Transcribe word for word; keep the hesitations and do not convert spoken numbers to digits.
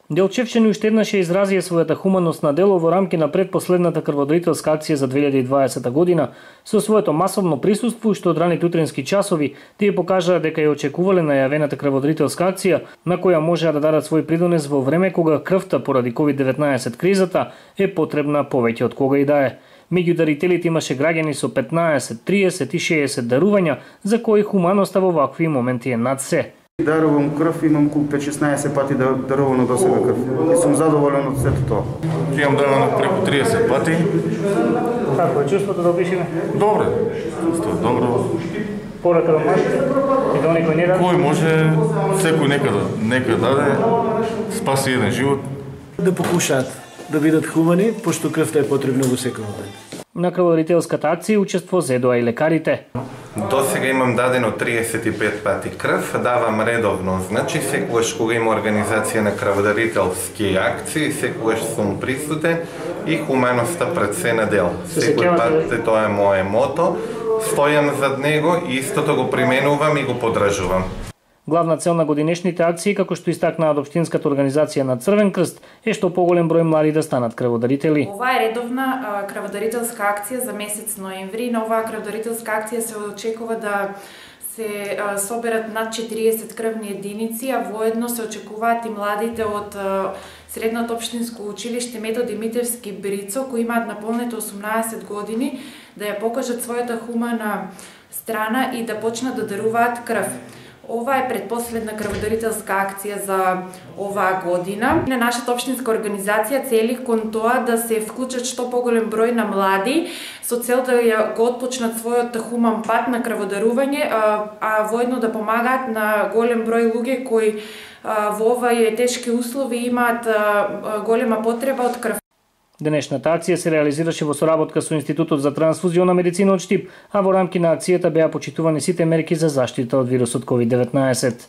Делчевчани уште еднаш ја изразија својата хуманост на дело во рамки на предпоследната крводарителска акција за две илјади и дваесета година со своето масовно присуство, што од раните утренски часови тие покажаа дека ја очекувале најавената крводарителска акција, на која можеа да дадат свој придонес во време кога крвта поради ковид деветнаесет кризата е потребна повеќе од кога и да е. Меѓу дарителите имаше граѓани со петнаесет, триесет и шеесет дарувања, за кои хуманоста во вакви моменти е над се. Дарувам крв, имам околу пет-шеснаесет пати дарувано до сега крв. И сум задоволен од сето тоа. Имам дарувано преку триесет пати. Како е чувството да опишеме? Добро. Чувството добро. Порака да можете? И да некој не даде? Кој може, секој нека, нека даде, спаси еден живот. Да покушаат да бидат хумани, пошто крвта е потребна во секој ден. На крводарителската акција учество зедоа и лекарите. До сега имам дадено триесет и пет пати крв, давам редовно, значи секогаш кога има организација на крводарителски акции, секогаш сум присутен и хуманоста пред се на дел. Секој пат тоа е мое мото, стојам зад него и истото го применувам и го поддржувам. Главна цел на годинешните акции, како што истакнаа од Општинската организација на Црвен крст, е што поголем број млади да станат крводарители. Ова е редовна а, крводарителска акција за месец ноември. На оваа крводарителска акција се очекува да се а, соберат над четириесет крвни единици, а воедно се очекуваат и младите од а, Средното општинско училиште Методи Митевски Брицо, кои имаат наполнете осумнаесет години, да ја покажат својата хумана страна и да почнат да даруваат крв. Ова е предпоследна крводарителска акција за оваа година. На нашата општинска организација цели кон тоа да се вклучат што поголем број на млади со цел да ја го отпочнат својот хуман пат на крводарување, а, а воедно да помагаат на голем број луѓе кои а, во овие тешки услови имаат а, голема потреба од крв. Денешната акција се реализираше во соработка со Институтот за трансфузиона медицина од Штип, а во рамки на акцијата беа почитувани сите мерки за заштита од вирусот ковид деветнаесет.